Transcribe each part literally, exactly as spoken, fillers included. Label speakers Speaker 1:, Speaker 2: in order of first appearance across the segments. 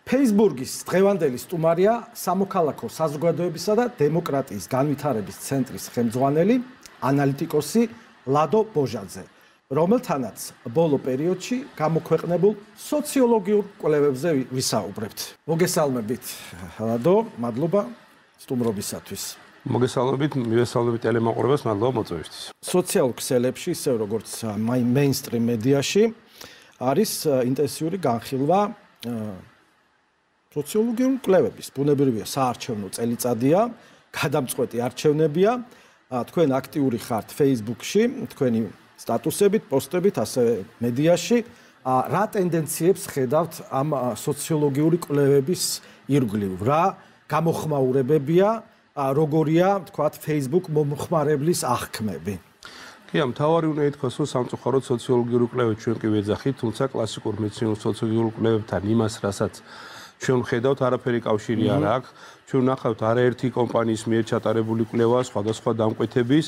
Speaker 1: Facebook-ის დღევანდელი სტუმარია სამოქალაქო საზოგადოებისა და დემოკრატიის განვითარების ცენტრის ხელმძღვანელი ანალიტიკოსი ლადო ბოჟაძე, რომელთანაც ბოლო პერიოდში გამოქვეყნებულ სოციოლოგიურ კვლევებზე ვისაუბრებთ. მოგესალმებით, ლადო, მადლობა სტუმრობისათვის.
Speaker 2: მოგესალმებით, მივესალმებით ტელემაყურებელს, მადლობა მოწვევისთვის.
Speaker 1: სოციალურ ქსელებში, ისე როგორც მეინსტრიმ მედიაში, არის ინტენსიური განხილვა სოციოლოგიური კვლევების. ბუნებრივია, საარჩევნო წელიწადია, გადამწყვეტი არჩევნებია. თქვენ აქტიური ხართ Facebook-ში, თქვენი სტატუსებით, პოსტებით, ასევე მედიაში. რა ტენდენციებს ხედავთ ამ სოციოლოგიური კვლევების ირგვლივ? რა გამოხმაურებებია, როგორია, თქვათ, Facebook მომხმარებლის აღქმები?
Speaker 2: კი, მთავარი უნდა ითქვას, რომ სამწუხაროდ სოციოლოგიური კვლევები ჩვენ კი ვეძახით, თუმცა კლასიკურ მეცნიერულ სოციოლოგიურ კვლევებთან იმას, რასაც ჩვენ ხედავთ, არაფერი კავშირი არ აქვს. ჩვენ ნახავთ არაერთი კომპანიის მიერ ჩატარებული კვლევა სხვადასხვა დამკვეთების,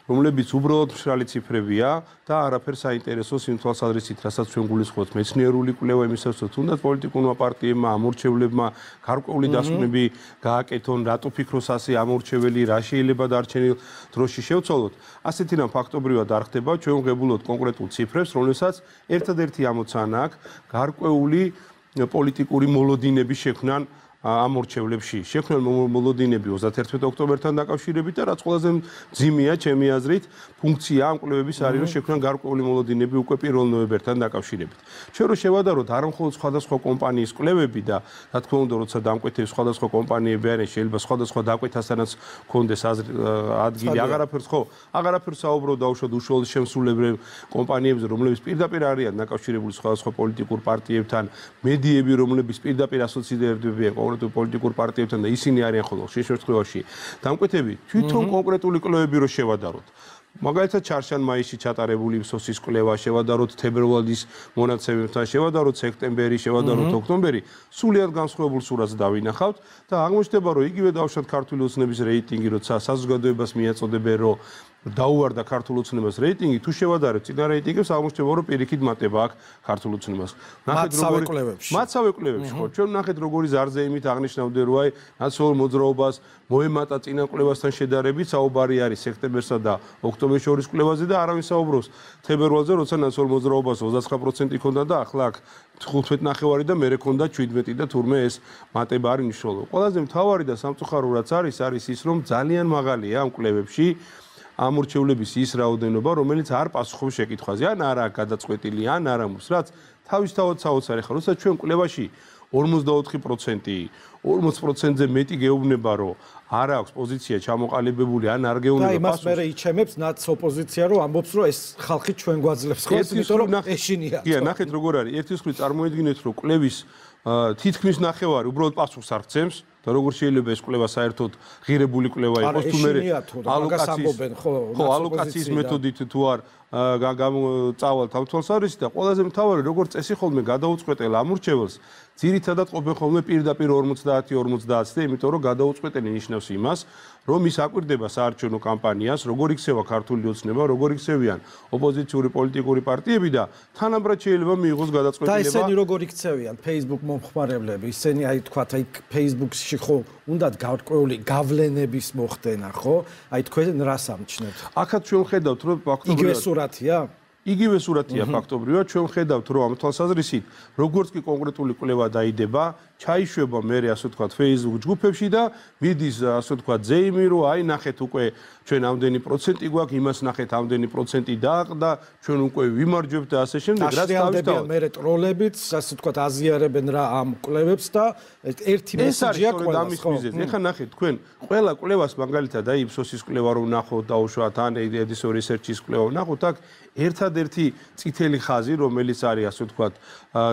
Speaker 2: რომლებიც უბრალოდ მშრალი ციფრებია და არაფერ საინტერესოს იმ თვალსაზრისით, რასაც ჩვენ გულისხმობთ მეცნიერული კვლევა იმისათვის, რომ თუნდაც პოლიტიკურმა პარტიებმა, ამორჩევლებმა გარკვეული დასკვნები გააკეთონ, რატო ფიქრობს ასე ამორჩეველი, რა შეიძლება დარჩენილ დროში შევცვალოთ. ასეთი რამ ფაქტობრივად არ ხდება, ჩვენ ვღებულობთ კონკრეტულ ციფრებს, რომელსაც ერთადერთი ამოცანა აქვს გარკვეული პოლიტიკური მოლოდინების შექმნან ამორჩევლებში. შექმნან მოლოდინები ოცდაერთი ოქტომბერთან დაკავშირებით და რაც ყველაზე მძიმეა, ჩემი აზრით, ფუნქცია ამ კვლევების არის, რომ შექმნან გარკვეული მოლოდინები უკვე პირველ ნოემბერთან დაკავშირებით. ჩვენ რო შევადაროთ არა მხოლოდ სხვადასხვა კომპანიის კვლევები და რა თქმა უნდა, როცა დამკვეთებს სხვადასხვა კომპანიები არის, შეიძლება სხვადასხვა დაკვეთასთანაც კონდეს ადგილი, აღარაფერს ხო, აღარაფერს საუბრობ დაუშვათ უშუალოდ შემსრულებელ კომპანიებზე, რომლებიც პირდაპირ არიან დაკავშირებული სხვადასხვა პოლიტიკურ პარტიებთან, მედიები, რომლებიც პირდაპირ ასოცირდებიან პოლიტიკურ პარტიებთან და ისინი არიან ხოლმე ხშირ შემთხვევაში დამკვეთები თვითონ კონკრეტული კვლევები რო შევადაროთ. მაგალითად ჩარშან-მაისში ჩატარებული იფსოსის კვლევა, შევადაროთ თებერვალის მონაცემებთან, შევადაროთ სექტემბერი, შევადაროთ ოქტომბერი, სულიად განსხვავებულ სურათს დავინახავთ და აღმოჩნდება, რომ იგივე დავუშვათ ქართული ოცნების რეიტინგი, როცა საზოგადოებას მიაწოდებენ, რომ დაუვარდა ქართულ ოცნებას რეიტინგი, თუ შევადარებთ წინა რეიტინგებს, აღმოჩნდება, რომ პირიქით მატება აქვს ქართულ ოცნებას.
Speaker 1: ნახეთ როგორი კვლევებში.
Speaker 2: მაცავე კვლევებში ხო, ჩვენ ნახეთ როგორი ზარზეიმით აღნიშნავდნენ, რომ აი ნაციონალურ მოძრაობას მოემატა წინა კვლევასთან შედარებით, საუბარი არის სექტემბერსა და ოქტომბერს შორის კვლევაზე და არავინ საუბრობს თებერვალზე, როცა ნაციონალურ მოძრაობას ოცდაცხრა პროცენტი ჰქონდა და ახლა აქ თხუთმეტი ნახევარი და მერე ჰქონდა შვიდმეტი და თურმე ეს მატება არის მნიშვნელოვანი. ყველაზე მთავარი და სამწუხარო რაც არის, არის ის, რომ ძალიან მაღალია ამ კვლევებში ამორჩევლების ის რაოდენობა, რომელიც არ პასუხობს შეკითხვაზე, ან არა გადაწყვეტილი, ან არა მუს, რაც თავისთავად საოცარი ხარ, როცა ჩვენ კვლევაში ორმოცდაოთხი პროცენტი, ორმოც პროცენტზე მეტი გეუბნება, რომ არ აქვს პოზიცია ჩამოყალიბებული, ან არ გეუბნება
Speaker 1: პასუხს. და იმას მერე იჩემებს ნაც ოპოზიცია, რომ ამბობს, რომ ეს ხალხი ჩვენ გვაძლევს ხოლმე, იმიტომ რომ ეშინია.
Speaker 2: კი, ნახეთ როგორ არის. ერთის მხრივ წარმოედგინეთ, რომ კვლევის თითქმის ნახევარი უბრალოდ პასუხს არ გცემს და როგორ შეიძლება ეს კვლევა საერთოდ ღირებული კვლევა იყოს თუ მე
Speaker 1: ალოკაციის
Speaker 2: ხო ალოკაციის მეთოდით თუ არ გამოწავალთ ამ თვალსაზრისით და ყველაზე მთავარი როგორ წესი ხოლმე გადაუწყვეტელ ამორჩეველს ძირითადად ყოფენ ხოლმე პირდაპირ ორმოცდაათი ორმოცდაათი და იმიტომ რომ გადაუწყვეტელი ნიშნავს იმას რომ ის აკვირდება საარჩევნო კამპანიას როგორ იქცევა ქართული ოცნება როგორ იქცევიან ოპოზიციური პოლიტიკური პარტიები და თანაბრად შეიძლება მიიღოს გადაწყვეტილება
Speaker 1: და ისინი როგორ იქცევიან Facebook მომხმარებლები ისინი აი თქვათ აი Facebook-ში ხო უნდათ გარკვეული გავლენების მოხდენა ხო აი თქვენ რას ამჩნევთ
Speaker 2: აქაც ჩვენ ხედავთ რომ
Speaker 1: ფაქტობრივად იგივე სურათია
Speaker 2: იგივე სურათია ფაქტობრივად ჩვენ ხედავთ რომ ამ თვალსაზრისით როგორც კი კონკრეტული კვლევა დაიდება ჩაიშვება მე ასე ვთქვათ Facebook ჯგუფებში და მიდის ასე ვთქვათ ზეიმი რომ აი ნახეთ უკვე ჩვენ ამდენი პროცენტი გვაქვს იმას ნახეთ ამდენი პროცენტი დააყდა ჩვენ უკვე ვიმარჯვებთ და ასე შემდეგ რაც
Speaker 1: თავისთავად მე ტროლებიც ასე ვთქვათ აზიარებენ რა ამ კვლევებს და ერთი მესიჯია ყველას ხო
Speaker 2: ეხლა ნახეთ თქვენ ყველა კვლევას მაგალითად აი იფსოსის კვლევა რომ ნახოთ დაუშვათ ან ედისონ რისერჩის კვლევა ნახოთ აქ ერთადერთი წითელი ხაზი რომელიც არის ასე ვთქვათ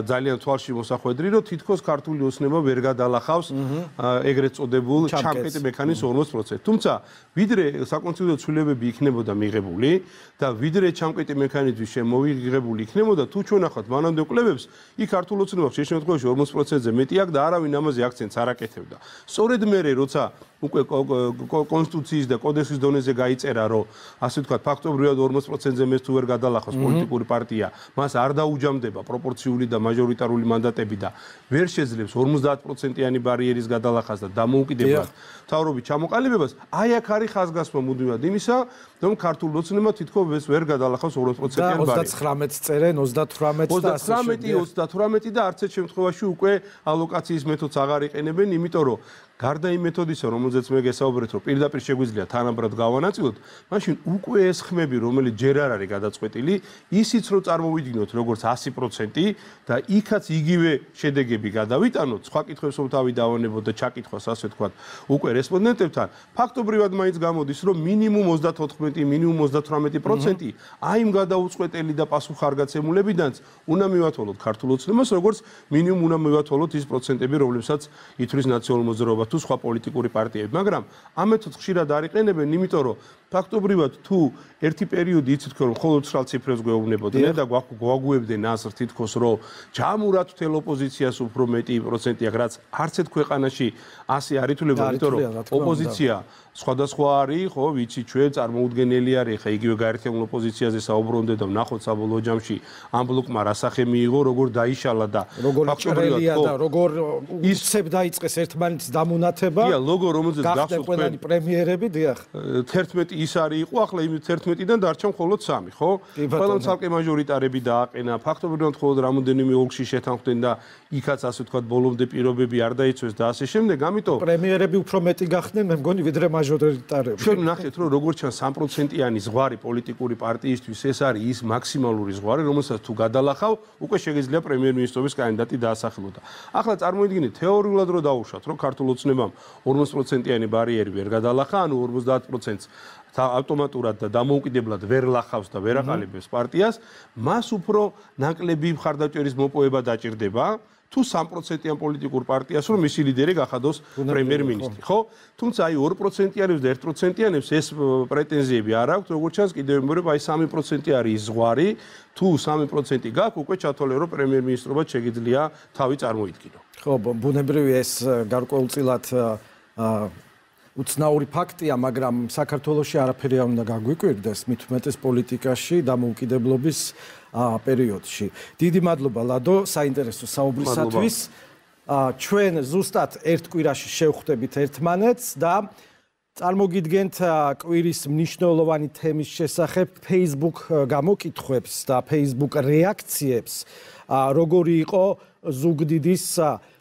Speaker 2: ძალიან თვალში მოსახვედრი რომ თითქოს ქართული ოცნება ვერ გადალახავს ეგრეთ წოდებულ ჩამკეტი მექანიზმს ორმოც პროცენტი. თუმცა ვიდრე საკონსტიტუციო ცვლილებები იქნებოდა მიღებული და ვიდრე ჩამკეტი მექანიზმი შემოიღებული იქნებოდა თუ ჩვენ ახავთ მანამდე კვლევებს იქ ქართულ ოცნებას შე შემთხვევაში ორმოც პროცენტზე მეტი აქვს და არავინ ამაზე აქცენტს არ აკეთებდა. სწორედ მერე როცა უკვე კონსტიტუციის და კოდექსის დონეზე გაიწერა, რომ ასე ვთქვათ, ფაქტობრივად ორმოც პროცენტზე მეც თუ ვერ გადალახავს პოლიტიკური პარტია, მას არ დაუჯამდება პროპორციული და მაჟორიტარული მანდატები და ვერ შეძლებს ორმოცდაათ პროცენტიანი ბარიერის გადალახას და დამოუკიდებლად მთავრობის ჩამოყალიბებას, აი აქ არის ხაზგასმა მუდმივად იმისა, რომ ქართულ ოცნებმა თითქოს ვერ გადალახავს ორმოც პროცენტიანი ბარიერი.
Speaker 1: ოცდათხრამეტს წერენ, ოცდათვრამეტს და
Speaker 2: ოცდათხრამეტი, ოცდათვრამეტი და არც ერთ შემთხვევაში უკვე ალოკაციის მეთოდს აღარ იყენებენ, იმიტომ რომ გარდა იმ მეთოდისა, რომელზეც მე გესაუბრეთ, რომ პირდაპირ შეგვიძლია თანაბრად გავანაწილოთ, მაშინ უკვე ეს ხმები, რომელიც ჯერ არ არის გადაწყვეტილი, ისიც რომ წარმოვიდგინოთ როგორც ასი პროცენტი და იქაც იგივე შედეგები გადავიტანოთ, სხვა კითხვებს რომ თავი დავანებოთ და ჩაკითხვას ასე ვთქვათ, უკვე რესპონდენტებთან, ფაქტობრივად მაინც გამოდის, რომ მინიმუმ ოცდათოთხმეტი, მინიმუმ ოცდათვრამეტი პროცენტი აი იმ გადაუწყვეტელი და პასუხარგაცემულებიდანაც უნდა მივათვალოთ ქართულ ოცნებას, როგორც მინიმუმ უნდა მივათვალოთ ის პროცენტები, რომლებსაც ითვლის ნაციონალურ მოძრაობა თუ სხვა პოლიტიკური პარტიები, მაგრამ ამ მეთოდს ხშირად არ იყენებენ, იმიტომ რომ ფაქტობრივად თუ ერთი პერიოდი იცით რომ მხოლოდ ცხრა ციფრებს გვეუბნებოდნენ და გვაგვიებდნენ აზრ თითქოს რომ ჯამურად მთელ ოპოზიციას უფრო მეტი პროცენტი აქვს, რაც არც ერთ ქვეყანაში ასე არ ითვლება, იმიტომ რომ ოპოზიცია სხვადასხვა არის, ხო, ვიცი ჩვენ წარმოუდგენელი არის, ხა იგივე გაერთიანებულ ოპოზიციაზე საუბრობდნენ და ვნახოთ საბოლოო ჯამში ამ ბლოკმა რა სახე მიიღო, როგორ დაიშალა და
Speaker 1: ფაქტობრივად და როგორ ისწებ დაიწყეს ერთმანეთის დამონათება.
Speaker 2: დიახ, ლოგო რომელზეც
Speaker 1: გახდნენ ყველანი პრემიერები, დიახ.
Speaker 2: თერთმეტი ის არის იყო, ახლა იმ თერთმეტიდან დარჩა მხოლოდ სამი, ხო? ყველამ ცალკე მაჟორიტარები დააყენა, ფაქტობრივად მხოლოდ რამოდენიმე ოლქში შეთანხმდნენ და იქაც ასე ვთქვათ ბოლომდე პირობები არ დაიცვეს და ასე შემდეგ, ამიტომ
Speaker 1: პრემიერები უფრო მეტი გახდნენ, მე მგონი ვიდრე მაჟორიტარები.
Speaker 2: ჩვენ ნახეთ რომ როგორ ჩანს სამ პროცენტიანი ზღვარი პოლიტიკური პარტიისთვის ეს არის ის მაქსიმალური ზღვარი, რომელსაც თუ გადალახავ, უკვე შეგიძლია პრემიერ-მინისტრობის კანდიდატი დაასახელოთ. ახლა წარმოიდგინეთ თეორიულად რომ დაუშვათ, რომ ქართულ ოცნებამ ორმოც პროცენტიანი ბარიერი ვერ გადალახა, ანუ ორმოცდაათ პროცენტს ავტომატურად და დამოუკიდებლად ვერ ლახავს და ვერ აყალიბებს პარტიას, მას უფრო ნაკლები მხარდაჭერის მოპოვება დაჭირდება. თუ სამ პროცენტიან პოლიტიკურ პარტიას რომ მისი ლიდერი გახადოს პრემიერ-მინისტრი, ხო? თუმცა აი ორი პროცენტიანებს და ერთი პროცენტიანებს ეს პრეტენზიები არ აქვთ, როგორც ჩანს კიდევ მეორე აი სამი პროცენტი არის ზღვარი, თუ სამი პროცენტი გაქვს, უკვე ჩათვალე რომ პრემიერ-მინისტრობად შეგიძლია თავი წარმოიდგინო.
Speaker 1: ხო, ბუნებრივი ეს გარკვეულწილად უცნაური ფაქტია, მაგრამ საქართველოში არაფერი არ უნდა გაგვიკვირდეს, მით უმეტეს პოლიტიკაში დამოუკიდებლობის პერიოდში. დიდი მადლობა ლადო საინტერესო საუბრისათვის. ჩვენ ზუსტად ერთ კვირაში შევხვდებით ერთმანეთს და წარმოგიდგენთ კვირის მნიშვნელოვანი თემის შესახებ Facebook გამოკითხვებს და Facebook რეაქციებს, როგორი იყო ზუგდიდის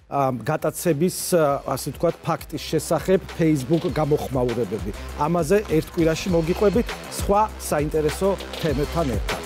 Speaker 1: გატაცების, ასე ვთქვათ, ფაქტის შესახებ Facebook გამოხმაურებები. ამაზე ერთ კვირაში მოგიყვებით სხვა საინტერესო თემებთან ერთად.